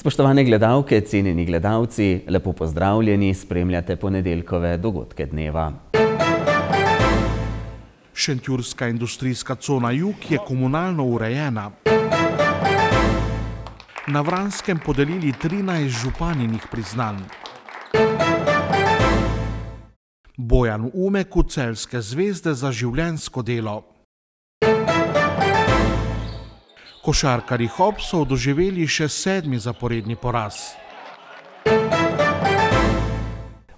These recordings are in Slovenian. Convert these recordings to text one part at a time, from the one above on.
Spoštovane gledalke, cenjeni gledalci, lepo pozdravljeni, spremljate ponedeljkove dogodke dneva. Šentjurska industrijska cona Jug je komunalno urejena. Na Vranskem podelili 13 županinih priznanj. Bojan Umek v Celjske zvezde za življenjsko delo. Košarkarji Hop so doživeli še 7. zaporedni poraz.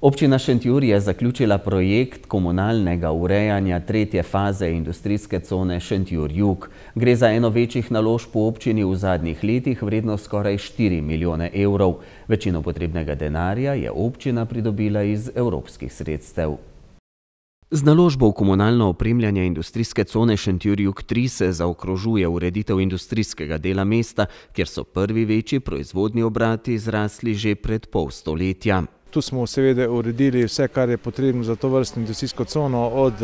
Občina Šentjur je zaključila projekt komunalnega urejanja 3. faze industrijske cone Šentjur Jug. Gre za eno večjih naložb v občini v zadnjih letih, vredno skoraj 4 milijone evrov. Večino potrebnega denarja je občina pridobila iz evropskih sredstev. Z naložbo v komunalno opremljanje industrijske cone Šentjur Jug 3 se zaokrožuje ureditev industrijskega dela mesta, kjer so prvi večji proizvodni obrati zrasli že pred pol stoletja. Tu smo seveda uredili vse, kar je potrebno za to vrstno industrijsko cono, od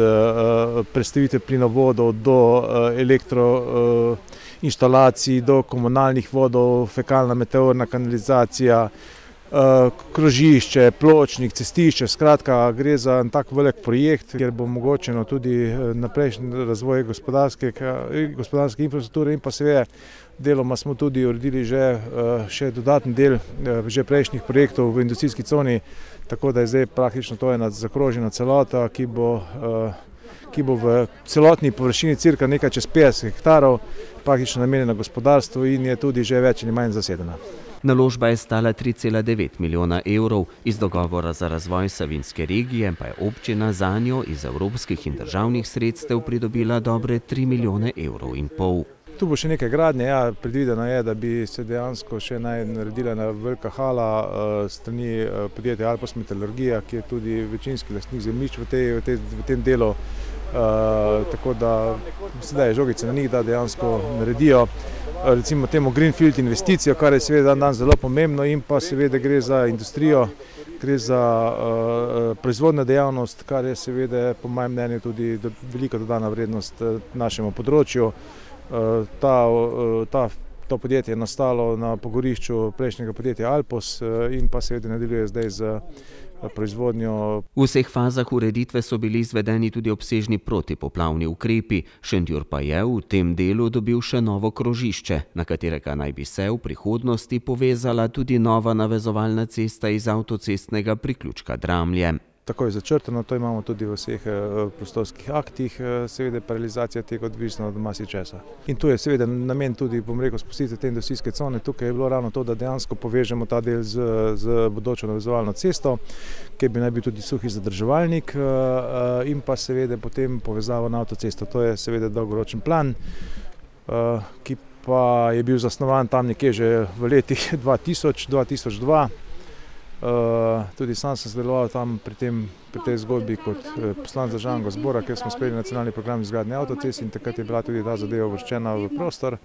prestavitve plinovodov do elektroinštalacij, do komunalnih vodov, fekalna meteorna kanalizacija, krožišče, pločnik, cestišče. Skratka, gre za en tak velik projekt, kjer bo omogočeno tudi naprejšnji razvoj gospodarske infrastrukture in pa seveda deloma smo tudi uredili še dodatni del že prejšnjih projektov v industrijski coni, tako da je zdaj praktično to ena zakrožena celota, ki bo v celotni površini cirka nekaj čez 50 hektarov praktično namenjena gospodarstvu in je tudi že več ali manj zasedena. Naložba je stala 3,9 milijona evrov, iz dogovora za razvoj Savinjske regije pa je občina zanjo iz evropskih in državnih sredstev pridobila dobre 3 milijone evrov in pol. Tu bo še nekaj gradnje, predvideno je, da bi se dejansko še naredila ena velika hala strani podjetja Alpos Metalurgija, ki je tudi večinski lastnik zemljišč v tem delu, tako da sedaj je žogica na njih, da dejansko naredijo recimo temu greenfield investicijo, kar je seveda dan zelo pomembno in pa seveda gre za industrijo, gre za proizvodno dejavnost, kar je seveda po mojem mnenju tudi velika dodana vrednost našemu področju. To podjetje je nastalo na pogorišču prejšnjega podjetja Alpos in pa seveda nadaljuje zdaj z proizvodnjo. V vseh fazah ureditve so bili izvedeni tudi obsežni protipoplavni ukrepi. Šentjur pa je v tem delu dobil še novo krožišče, na katerega naj bi se v prihodnosti povezala tudi nova navezovalna cesta iz avtocestnega priključka Dramlje. Tako je začrtano, to imamo tudi v vseh prostorskih aktih, seveda pa realizacija tega odvisna od marsičesa. In tu je seveda namen tudi, bom rekel, spustitve te industrijske cone. Tukaj je bilo ravno to, da dejansko povežemo ta del z bodočo navezovalno cesto, kjer bi naj bil tudi suhi zadrževalnik in pa seveda potem povezavo na avtocesto. To je seveda dolgoročen plan, ki pa je bil zasnovan tam nekje že v letih 2000-2002. Tudi sam sem sodeloval tam pri tej zgodbi kot poslanec Državnega zbora, kjer smo sprejeli nacionalni program izgradnje avtocest in takrat je bila tudi ta zadeva uvrščena v prostor.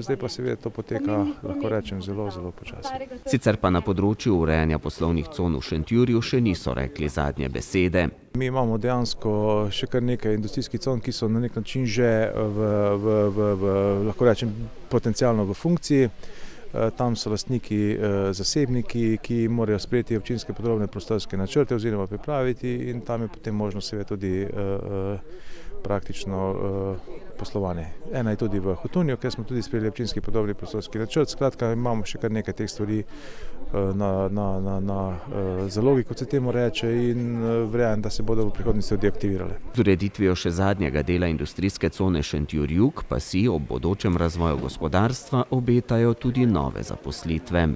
Zdaj pa seveda to poteka, lahko rečem, zelo počasi. Sicer pa na področju urejanja poslovnih con v Šentjurju še niso rekli zadnje besede. Mi imamo dejansko še kar nekaj industrijskih con, ki so na nek način že lahko rečem, potencialno v funkciji. Tam so lastniki zasebniki, ki morajo sprejeti občinske podrobne prostorske načrte oziroma pripraviti in tam je potem možno seveda tudi praktično poslovanje. Ena je tudi v Hotunju, kjer smo tudi sprejeli občinski podrobni prostorski načrt. Skratka, imamo še kar nekaj teh stvari na zalogi, kot se temu reče, in verjamem, da se bodo v prihodnosti tudi aktivirale. Z ureditvijo še zadnjega dela industrijske cone Šentjur Jug pa si ob bodočem razvoju gospodarstva obetajo tudi nove zaposlitve.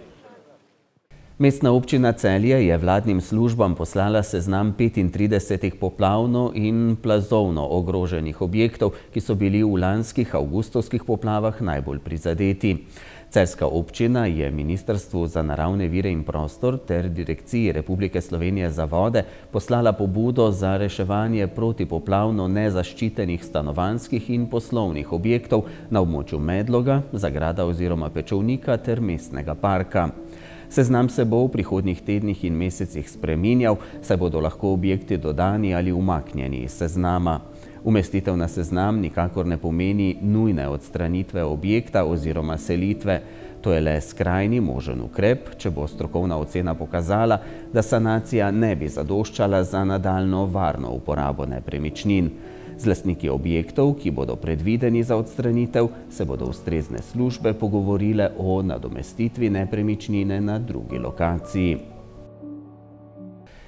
Mestna občina Celje je vladnim službam poslala seznam 35 poplavno in plazovno ogroženih objektov, ki so bili v lanskih avgustovskih poplavah najbolj prizadeti. Celjska občina je Ministrstvu za naravne vire in prostor ter Direkciji Republike Slovenije za vode poslala pobudo za reševanje protipoplavno nezaščitenih stanovanjskih in poslovnih objektov na območju Medloga, Zagrada oziroma Pečovnika ter mestnega parka. Seznam se bo v prihodnjih tednih in mesecih spreminjal, saj bodo lahko objekti dodani ali umaknjeni iz seznama. Umestitev na seznam nikakor ne pomeni nujne odstranitve objekta oziroma selitve. To je le skrajni možen ukrep, če bo strokovna ocena pokazala, da sanacija ne bi zadoščala za nadaljnjo varno uporabo nepremičnin. Z lastniki objektov, ki bodo predvideni za odstranitev, se bodo ustrezne službe pogovorile o nadomestitvi nepremičnine na drugi lokaciji.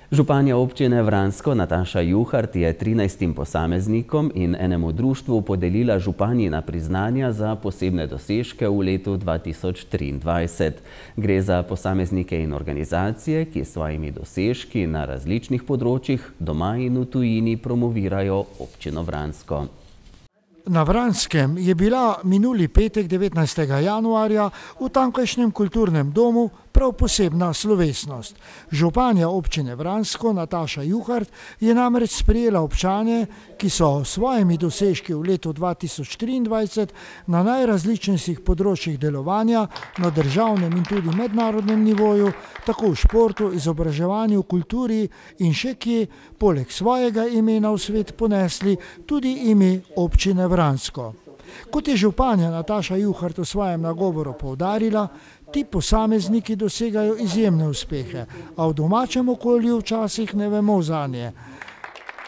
Županja občine Vransko Nataša Juhart je 13 posameznikom in enemu društvu podelila županjina priznanja za posebne dosežke v letu 2023. Gre za posameznike in organizacije, ki s svojimi dosežki na različnih področjih doma in v tujini promovirajo občino Vransko. Na Vranskem je bila minuli petek 19. januarja v tamkajšnjem kulturnem domu prav posebna slovesnost. Županja občine Vransko Nataša Juhart je namreč sprejela občane, ki so s svojimi dosežki v letu 2023 na najrazličnejših področjih delovanja na državnem in tudi mednarodnem nivoju, tako v športu, izobraževanju, kulturi in še kje, poleg svojega imena v svet ponesli tudi ime občine Vransko. Kot je županja Nataša Juhart v svojem nagovoru poudarila, ti posamezniki dosegajo izjemne uspehe, a v domačem okolju včasih ne vemo zanje,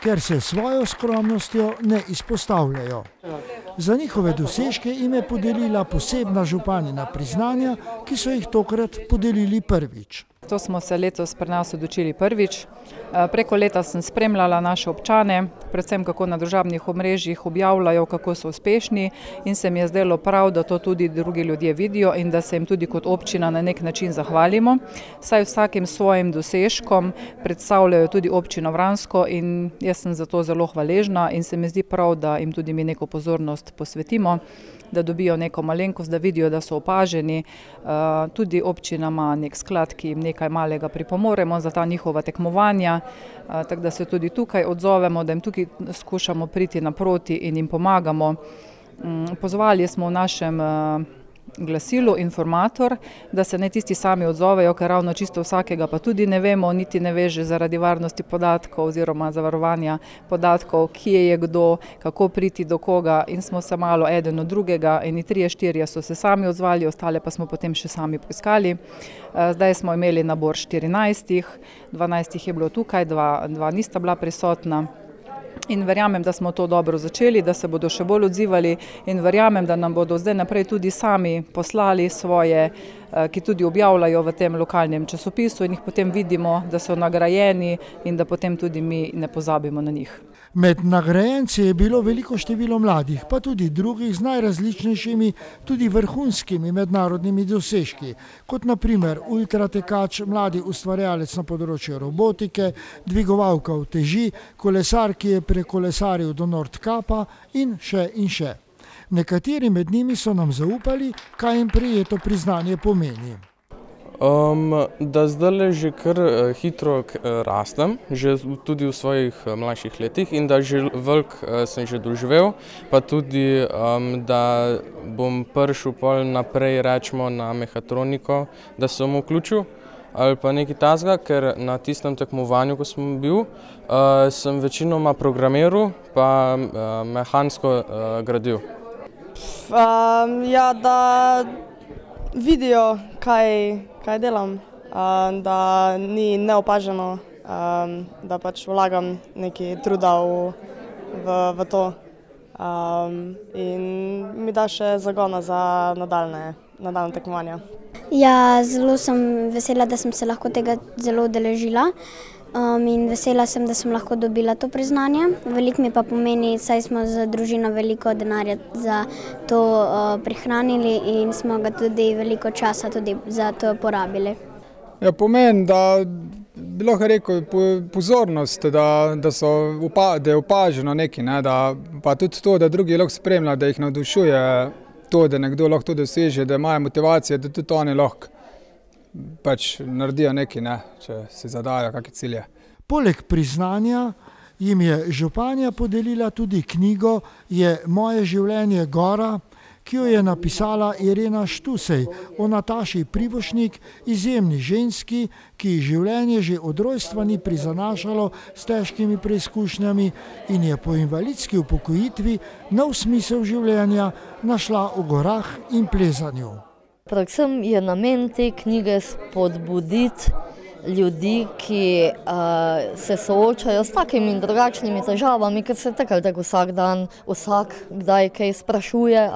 ker se svojo skromnostjo ne izpostavljajo. Za njihove dosežke jim je podelila posebna županjina priznanja, ki so jih tokrat podelili prvič. To smo se letos pri nas odločili prvič. Preko leta sem spremljala naše občane, predvsem kako na družabnih omrežjih objavljajo, kako so uspešni, in se mi je zdelo prav, da to tudi drugi ljudje vidijo in da se jim tudi kot občina na nek način zahvalimo. Saj vsakim svojim dosežkom predstavljajo tudi občino Vransko in jaz sem za to zelo hvaležna in se mi zdi prav, da jim tudi mi neko pozornost posvetimo, da dobijo neko malenkost, da vidijo, da so opaženi. Tudi občina ima nek sklad, ki jim nekaj malega pripomoremo za ta njihova tekmovanja, tako da se tudi tukaj odzovemo, da jim tukaj skušamo priti naproti in jim pomagamo. Pozvali smo v našem glasilu Informator, da se ne tisti sami odzovejo, ker ravno čisto vsakega pa tudi ne vemo, niti ne veže zaradi varnosti podatkov oziroma zavarovanja podatkov, kje je kdo, kako priti do koga, in smo se malo eden od drugega, in 3-4 so se sami odzvali, ostale pa smo potem še sami poiskali. Zdaj smo imeli nabor 14, 12 je bilo tukaj, 2 nista bila prisotna. In verjamem, da smo to dobro začeli, da se bodo še bolj odzivali, in verjamem, da nam bodo zdaj naprej tudi sami poslali svoje, ki tudi objavljajo v tem lokalnem časopisu, in jih potem vidimo, da so nagrajeni in da potem tudi mi ne pozabimo na njih. Med nagrajenci je bilo veliko število mladih, pa tudi drugih z najrazličnejšimi, tudi vrhunskimi mednarodnimi dosežki, kot na primer ultratekač, mladi ustvarjalec na področju robotike, dvigovalka uteži, kolesar, ki je prekolesaril do Nordkapa in še in še. Nekateri med njimi so nam zaupali, kaj jim prejeto priznanje pomeni. Da zdaj že kar hitro rastem, že tudi v svojih mlajših letih, in da že veliko sem že doživel, pa tudi, da bom prišel pol naprej, rečemo, na mehatroniko, da sem vključil ali pa nekaj takega, ker na tistem tekmovanju, ko sem bil, sem večinoma programiral pa mehansko gradil. Ja, da vidijo, kaj delam, da ni neopaženo, da pač vlagam nekaj truda v to, in mi da še zagona za nadaljne tekmovanja. Ja, zelo sem vesela, da sem se lahko tega zelo udeležila, in vesela sem, da sem lahko dobila to priznanje. Veliko mi pa pomeni, saj smo z družino veliko denarja za to prihranili in smo ga tudi veliko časa tudi za to porabili. Ja, pomeni, da bi lahko rekel pozornost, da je opaženo nekaj, ne, pa tudi to, da drugi lahko spremlja, da jih navdušuje to, da nekdo lahko to doseže, da imajo motivacije, da tudi oni lahko pač naredijo nekaj, ne, če se zadajo kakšne cilje. Poleg priznanja jim je županja podelila tudi knjigo Je moje življenje gora, ki jo je napisala Irena Štusej o Nataši Privošnik, izjemni ženski, ki ji življenje že od rojstva ni prizanašalo s težkimi preizkušnjami in je po invalidski upokojitvi nov smisel življenja našla v gorah in plezanju. Predvsem je namen te knjige spodbuditi ljudi, ki se soočajo s takimi in drugačnimi težavami, ker se tako ali tako vsak dan, vsak kdaj kaj sprašuje,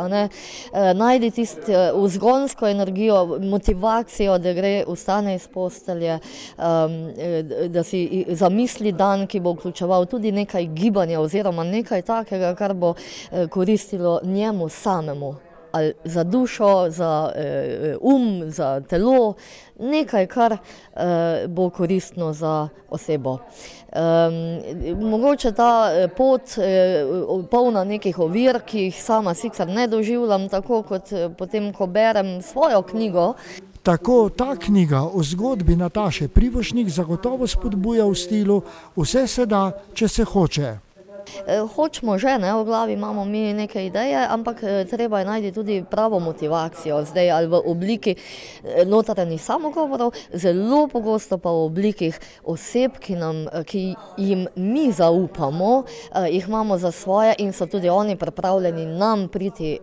najdi tisto vzgonsko energijo, motivacijo, da gre, vstane iz postelje, da si zamisli dan, ki bo vključeval tudi nekaj gibanja oziroma nekaj takega, kar bo koristilo njemu samemu. Ali za dušo, za za telo, nekaj, kar bo koristno za osebo. Mogoče ta pot polna nekih ovir, ki jih sama sicer ne doživljam, tako kot potem, ko berem svojo knjigo. Tako ta knjiga o zgodbi Nataše Privošnik zagotovo spodbuja v stilu vse se da, če se hoče. Hočemo že, v glavi imamo mi neke ideje, ampak treba je najti tudi pravo motivacijo, zdaj ali v obliki notranjih samogovorov, zelo pogosto pa v oblikih oseb, ki jim mi zaupamo, jih imamo za svoje in so tudi oni pripravljeni nam priti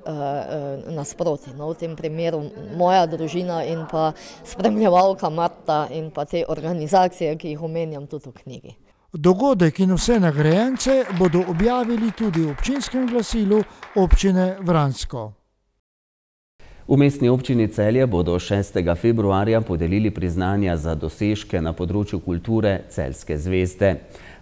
nasproti. V tem primeru moja družina in pa spremljevalka Marta in pa te organizacije, ki jih omenjam tudi v knjigi. Dogodek in vse nagrajence bodo objavili tudi v občinskem glasilu občine Vransko. V Mestni občini Celje bodo 6. februarja podelili priznanja za dosežke na področju kulture Celjske zvezde.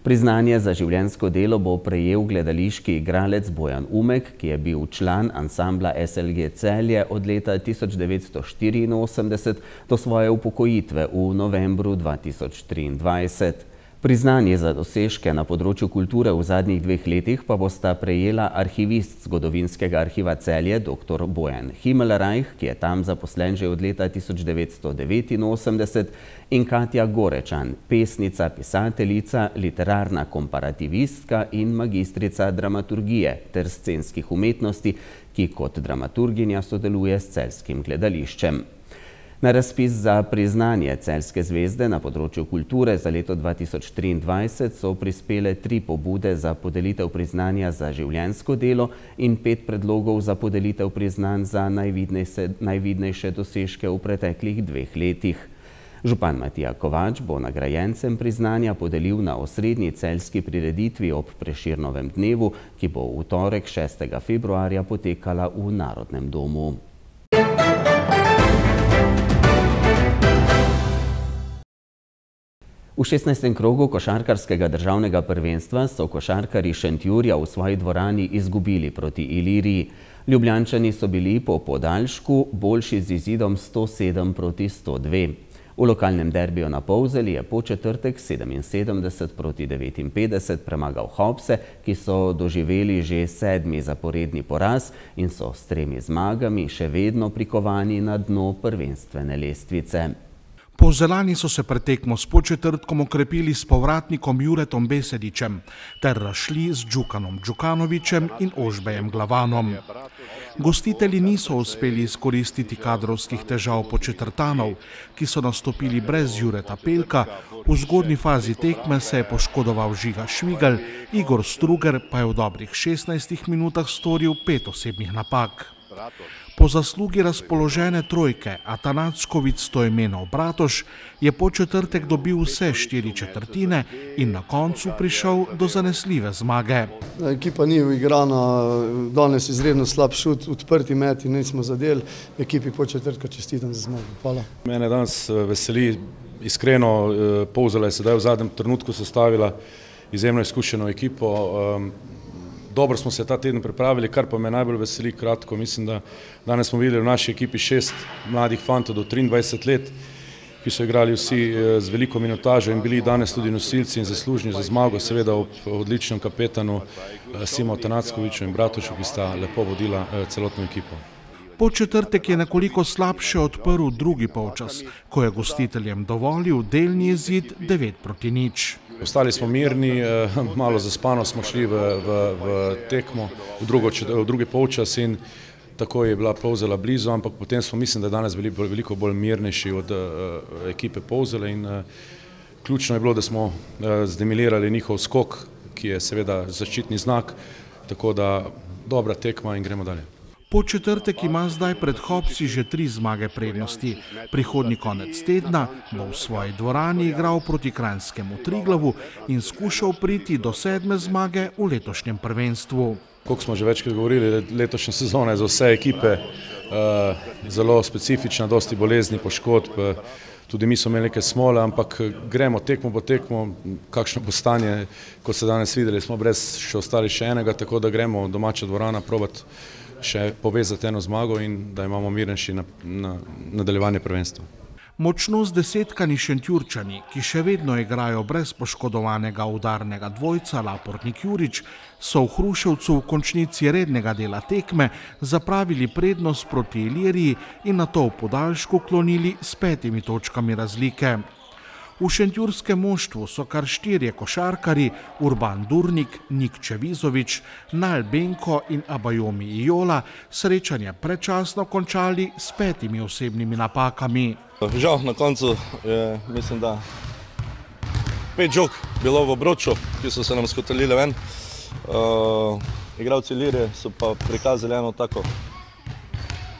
Priznanje za življenjsko delo bo prejel gledališki igralec Bojan Umek, ki je bil član ansambla SLG Celje od leta 1984 do svoje upokojitve v novembru 2023. Priznanje za dosežke na področju kulture v zadnjih 2 letih pa bosta prejela arhivist Zgodovinskega arhiva Celje dr. Bojan Himmelreich, ki je tam zaposlen že od leta 1989, in Katja Gorečan, pesnica, pisateljica, literarna komparativistka in magistrica dramaturgije ter scenskih umetnosti, ki kot dramaturginja sodeluje s celjskim gledališčem. Na razpis za priznanje Celjske zvezde na področju kulture za leto 2023 so prispele 3 pobude za podelitev priznanja za življenjsko delo in 5 predlogov za podelitev priznanj za najvidnejše dosežke v preteklih 2 letih. Župan Matija Kovač bo nagrajencem priznanja podelil na osrednji celjski prireditvi ob Prešernovem dnevu, ki bo v torek 6. februarja potekala v Narodnem domu. V 16. krogu košarkarskega državnega prvenstva so košarkarji Šentjurja v svoji dvorani izgubili proti Iliriji. Ljubljančani so bili po podaljšku boljši z izidom 107 proti 102. V lokalnem derbiju na Polzeli je Podčetrtek 77 proti 59 premagal Hopse, ki so doživeli že 7. zaporedni poraz in so s 3 zmagami še vedno prikovani na dno prvenstvene lestvice. Polzelani so se pred tekmo s Podčetrtkom okrepili s povratnikom Juretom Besedičem ter razšli z Đukanom Đukanovićem in Ožbejem Glavanom. Gostitelji niso uspeli izkoristiti kadrovskih težav Podčetrtanov, ki so nastopili brez Jureta Pelka, v zgodnji fazi tekme se je poškodoval Žiga Švigelj, Igor Struger pa je v dobrih 16 minutah storil 5 osebnih napak. Po zaslugi razpoložene trojke Atanacković Stojmenov Bratoš je Podčetrtek dobil vse 4 četrtine in na koncu prišel do zanesljive zmage. Ekipa ni uigrana, danes izredno slab šut, odprti meti nismo zadeli, ekipi Podčetrtka čestitam za zmago. Hvala. Mene danes veseli, iskreno, Polzela je sedaj v zadnjem trenutku sestavila izjemno izkušeno ekipo. Dobro smo se ta teden pripravili, kar pa me najbolj veseli kratko. Mislim, da danes smo videli v naši ekipi 6 mladih fantov do 23 let, ki so igrali vsi z veliko minutažo in bili danes tudi nosilci in zaslužni za zmago, seveda ob odličnem kapetanu Simo Atanackoviću in Bratošu, ki sta lepo vodila celotno ekipo. Podčetrtek je nekoliko slabše odprl drugi polčas, ko je gostiteljem dovolil delni izid 9 proti 0. Ostali smo mirni, malo zaspano smo šli v tekmo, v drugi polčas in tako je bila Polzela blizu, ampak potem smo, mislim, da danes bili veliko bolj mirnejši od ekipe Polzele in ključno je bilo, da smo zdemilirali njihov skok, ki je seveda zaščitni znak, tako da dobra tekma in gremo dalje. Podčetrtek ima zdaj pred Hopsi že 3 zmage prednosti. Prihodnji konec tedna bo v svoji dvorani igral proti kranjskemu Triglavu in skušal priti do 7. zmage v letošnjem prvenstvu. Kot smo že večkrat govorili, letošnja sezona je za vse ekipe zelo specifična, dosti bolezni, poškodb. Tudi mi smo imeli nekaj smole, ampak gremo tekmo po tekmo, kakšno bo stanje, kot se danes videli, smo brez še ostali še enega, tako da gremo v domača dvorana probati še povezati eno zmago in da imamo mirnejši nadaljevanje prvenstva. Močno zdesetkani Šentjurčani, ki še vedno igrajo brez poškodovanega udarnega dvojca Lapornik-Jurič, so v Hruševcu v končnici rednega dela tekme zapravili prednost proti Iliriji in nato v podaljšku klonili s 5 točkami razlike. V šentjurskem moštvu so kar 4 košarkari, Urban Durnik, Nik Čevizovič, Nal Benko in Abajomi Ijola, srečanje predčasno končali s 5 osebnimi napakami. Žal, na koncu je, mislim, da 5 žog bilo v obroču, ki so se nam skotalile ven. Igralci Ilirije so pa prikazali eno tako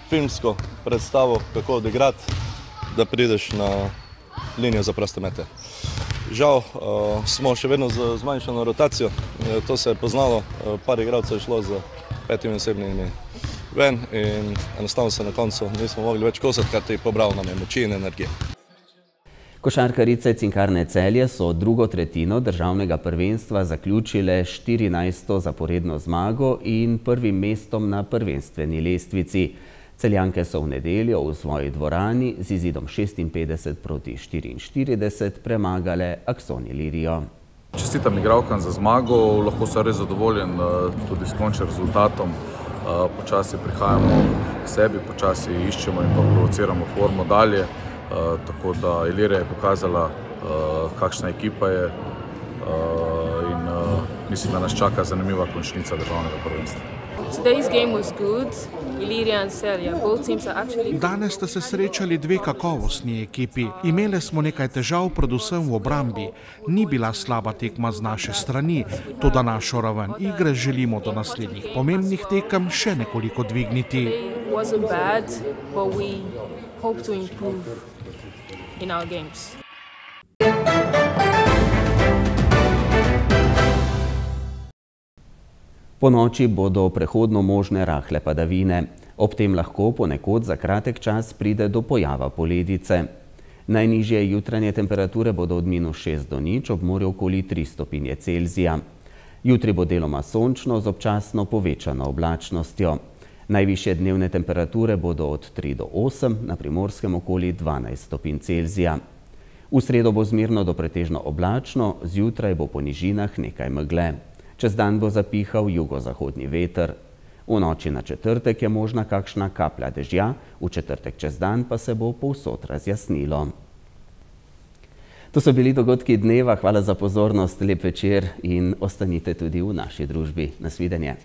filmsko predstavo, kako odigrati, da prideš na linijo za proste mete. Žal, smo še vedno z zmanjšano rotacijo, to se je poznalo, par igralcev je šlo z 5 osebnimi ven in enostavno se na koncu nismo mogli več kosati, kar ti je pobral nam je moči in energije. Košarkarice Cinkarne Celje so drugo tretjino državnega prvenstva zaključile 14. zaporedno zmago in prvim mestom na prvenstveni lestvici. Celjanke so v nedeljo v svoji dvorani z izidom 56 proti 44 premagale Akson Ilirijo. Čestitam igralkam za zmago, lahko sem res zadovoljen tudi s končnim rezultatom. Počasi prihajamo k sebi, počasi iščemo in pa provociramo formo dalje. Tako da Ilirija je pokazala, kakšna ekipa je in mislim, da nas čaka zanimiva končnica državnega prvenstva. Danes sta se srečali 2 kakovostni ekipi. Imeli smo nekaj težav, predvsem v obrambi. Ni bila slaba tekma z naše strani, toda našo raven igre želimo do naslednjih pomembnih tekem še nekoliko dvigniti. Po noči bodo prehodno možne rahle padavine. Ob tem lahko ponekod za kratek čas pride do pojava poledice. Najnižje jutranje temperature bodo od -6 do 0, ob morju okoli 3 stopinje Celzija. Jutri bo deloma sončno z občasno povečano oblačnostjo. Najvišje dnevne temperature bodo od 3 do 8, na Primorskem okoli 12 stopinj Celzija. V sredo bo zmerno do pretežno oblačno, zjutraj bo po nižinah nekaj megle. Čez dan bo zapihal jugozahodni veter. V noči na četrtek je možna kakšna kaplja dežja, v četrtek čez dan pa se bo povsod razjasnilo. To so bili dogodki dneva, hvala za pozornost, lep večer in ostanite tudi v naši družbi. Nasvidenje.